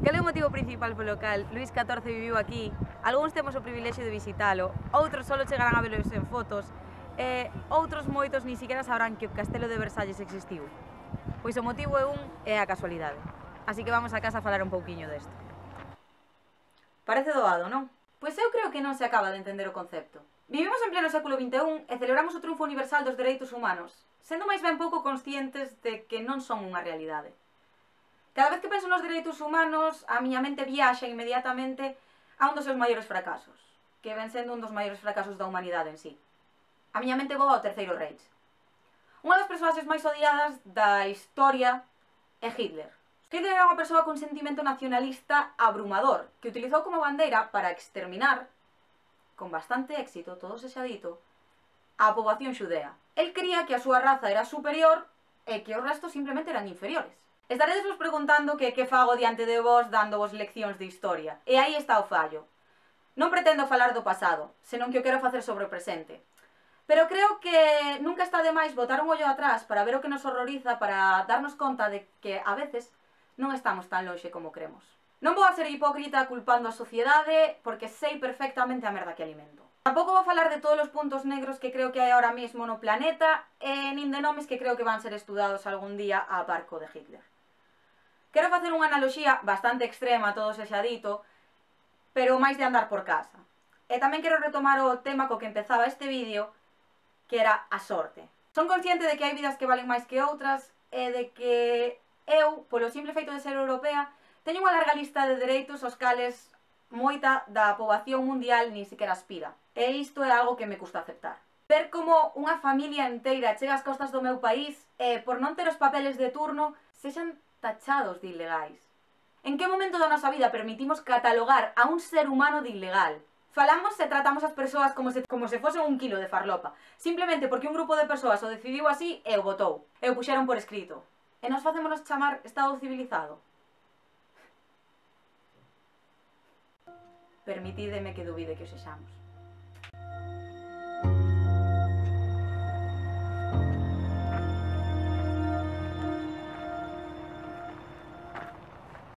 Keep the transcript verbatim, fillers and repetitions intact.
Cal é o motivo principal polo cal Luís catorce viviu aquí? Algúns temos o privilexio de visitalo, outros só chegarán a velos en fotos, e outros moitos ni siquiera sabrán que o Castelo de Versalles existiu. Pois o motivo é un e a casualidade. Así que vamos a casa a falar un pouquiño desto. Parece doado, non? Pois eu creo que non se acaba de entender o concepto. Vivimos en pleno século vinte e un e celebramos o triunfo universal dos dereitos humanos, sendo máis ben pouco conscientes de que non son unha realidade. Cada vez que penso nos dereitos humanos, a miña mente viaxa inmediatamente a un dos seus maiores fracasos, que ven sendo un dos maiores fracasos da humanidade en sí. A miña mente voa ao Terceiro Reich. Unha das persoas máis odiadas da historia é Hitler. Hitler era unha persoa con sentimento nacionalista abrumador, que utilizou como bandeira para exterminar, con bastante éxito, todo se xa dito, a poboación xudea. El cría que a súa raza era superior e que os restos simplemente eran inferiores. Estaredes vos preguntando que que fago diante de vos dando vos leccións de historia. E aí está o fallo. Non pretendo falar do pasado, senón que o quero facer sobre o presente. Pero creo que nunca está de máis botar un ollo atrás para ver o que nos horroriza, para darnos conta de que a veces non estamos tan lonxe como cremos. Non vou a ser hipócrita culpando a sociedade, porque sei perfectamente a merda que alimento. Tampouco vou falar de todos os puntos negros que creo que hai ahora mesmo no planeta, e nin de nomes que creo que van ser estudados algún día a barco de Hitler. Quero facer unha analoxía bastante extrema, todo se xa dito, pero máis de andar por casa. E tamén quero retomar o tema co que empezaba este vídeo, que era a sorte. Son consciente de que hai vidas que valen máis que outras, e de que eu, polo simple feito de ser europea, teño unha larga lista de dereitos aos cales moita da poboación mundial nin sequera aspira. E isto é algo que me custa aceptar. Ver como unha familia inteira chega ás costas do meu país e, por non ter os papeles de turno, sexan tachados de ilegais. En que momento da nosa vida permitimos catalogar a un ser humano de ilegal? Falamos e tratamos as persoas como se, como se fosen un kilo de farlopa, simplemente porque un grupo de persoas o decidiu así e o votou, e o puxeron por escrito. E nos facémonos chamar Estado civilizado? Permitídeme que dubide que o sexamos.